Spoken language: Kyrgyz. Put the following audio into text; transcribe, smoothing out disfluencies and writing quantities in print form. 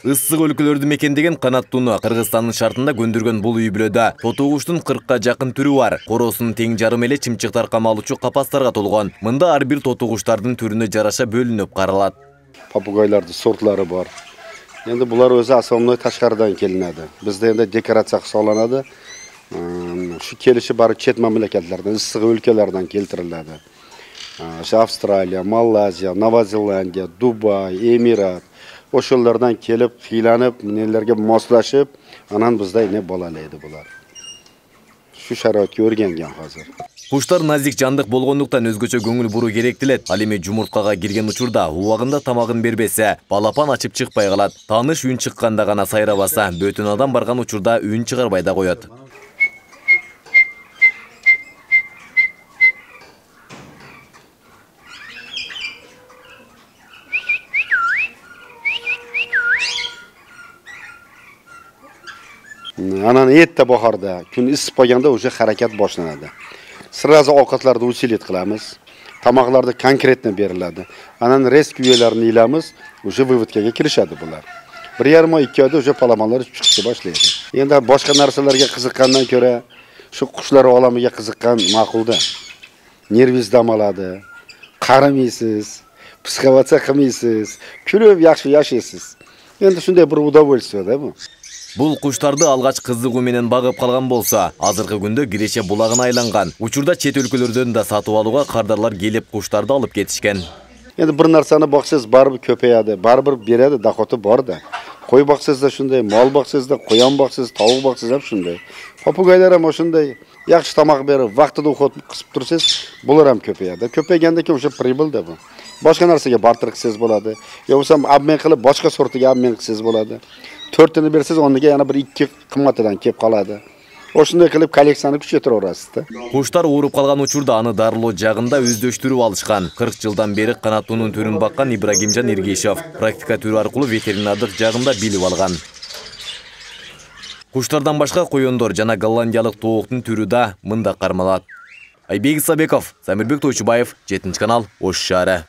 Issык өлкөлөрдү мекендеген канаттууну Кыргызстандын шартында көндүргөн бул үй бүлөдө тоту куштун 40ка жакын түрү бар. Коросунун тең жарым эле чымчыктар камалуучу капастарга толгон. Мында ар бир тоту куштардын түрүнө жараша бөлүнүп каралат. Попугайлардын сортлары бар. Енді бұлар өзі основной ташқардан келінеді. Бізде енді декорация қысаланады. Şu келіші бары чет мемлекеттерден, ыстық өлкелерден келтіріледі. Австралия, Малайзия, Нова Зеландия, Дубай, Эмират. Ошолардан келіп, хиланып, нелерге мослашып, анан бізде не болалайды бұлар. Şu шараатка өргенген қазір. Куштар назик жандык болгондуктан өзгөчө көңүл буруу керектелет. Ал эми жумурткага кирген учурда убагында тамагын бербесе, балапан ачып чыкпай калат. Тааныш үн чыкканда гана сайрабаса, бөтөн адам барган учурда үн чыгарбай да коет. Анан этте бахарда, күн ысып калганда уже харакат башланады. Сразу овкатларды усилит кылабыз. Тамакларды конкретно берилadi. Анан рескүелерин ыйлабыз, уже выводкага киришadi булар. 1,5-2 айда уже паламалар чыкты башлайды. Енді башка нерселерге кызыккандан көрө, шу кушлар аламыга кызыккан макулда. Нервиз дамалады, карамыйсыз, психоваться кылмыйсыз, күлүп жакшы жашайсыз. Енді шундай бир удовольствие да бу. Бул куштарды алгач кызыгуу менен багып калган болсо, азыркы күндө Киреше булагына айланган. Учурда чет өлкөлөрдөн да сатып алууга кардарлар келип куштарды алып кетишкен. Енді бир нарсаны баксаңыз барбыр көпөйөдү, барбыр береді, доходу бар да. Кой баксаңыз да шундай, мал баксаңыз да, коян баксаңыз, тауык баксаңыз да шундай. Попугайлар ham ошондой жакшы тамак берип, вактыда уход кысып турсаңыз, булар ham көпөйөдү. Көпөйгөндөн кийин уже прибыль да бу. Башка нерсеге бартыр кылсаңыз болот. Же болсо обмен кылып, башка сортуга обмен кылсаңыз болот. 4-тени берсеңиз, ондога yana bir 2 кымбатыдан кеп калады. Ошондой кылып коллекцияны күчөтүп орасыз да. Куштар ооруп калган учурда аны дарылоо жагында өздөштүрүп алышкан. 40 жылдан бери канаттуунун түрүн баккан Ибрагимжан Эргешов практика түрү аркылуу ветеринардык жагында билип алган. Куштардан башка коёндор жана голландиялык тооктун түрү да мында кармалат. Айбек Исабеков, Самирбек Тойчубаев, 7 канал, Ош шаары.